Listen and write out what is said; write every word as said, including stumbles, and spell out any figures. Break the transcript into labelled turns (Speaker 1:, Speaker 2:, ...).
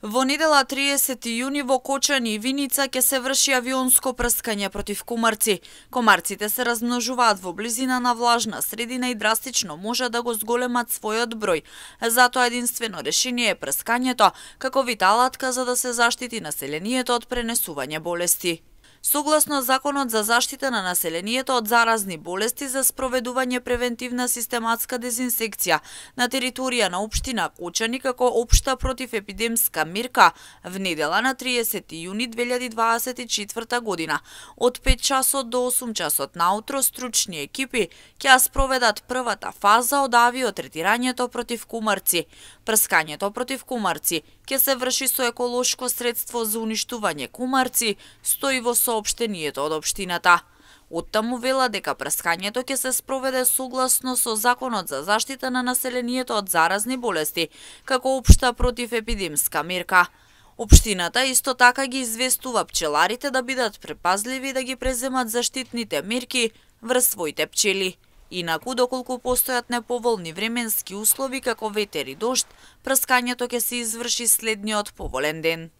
Speaker 1: Во недела триесети јуни во Кочани и Виница ќе се врши авионско прскање против кумарци. Комарците се размножуваат во близина на влажна средина и драстично може да го зголемат својот број. Затоа единствено решение е прскањето како вид алатка за да се заштити населението од пренесување болести. Согласно Законот за заштита на населението од заразни болести за спроведување превентивна систематска дезинсекција на територија на општина Кочани како општа противепидемска мерка, в недела на триесети јуни две илјади дваесет и четврта година, од пет часот до осум часот наутро стручни екипи ќе ја спроведат првата фаза од авиотретирањето против кумарци. Прскањето против кумарци ќе се врши со еколошко средство за уништување кумарци, стои во соопштението од општината. Оттаму вела дека прскањето ќе се спроведе согласно со Законот за заштита на населението од заразни болести, како општа противепидемска мерка. Општината исто така ги известува пчеларите да бидат препазливи да ги преземат заштитните мерки врз своите пчели. Инаку, доколку постојат неповолни временски услови како ветер и дожд, прскањето ќе се изврши следниот поволен ден.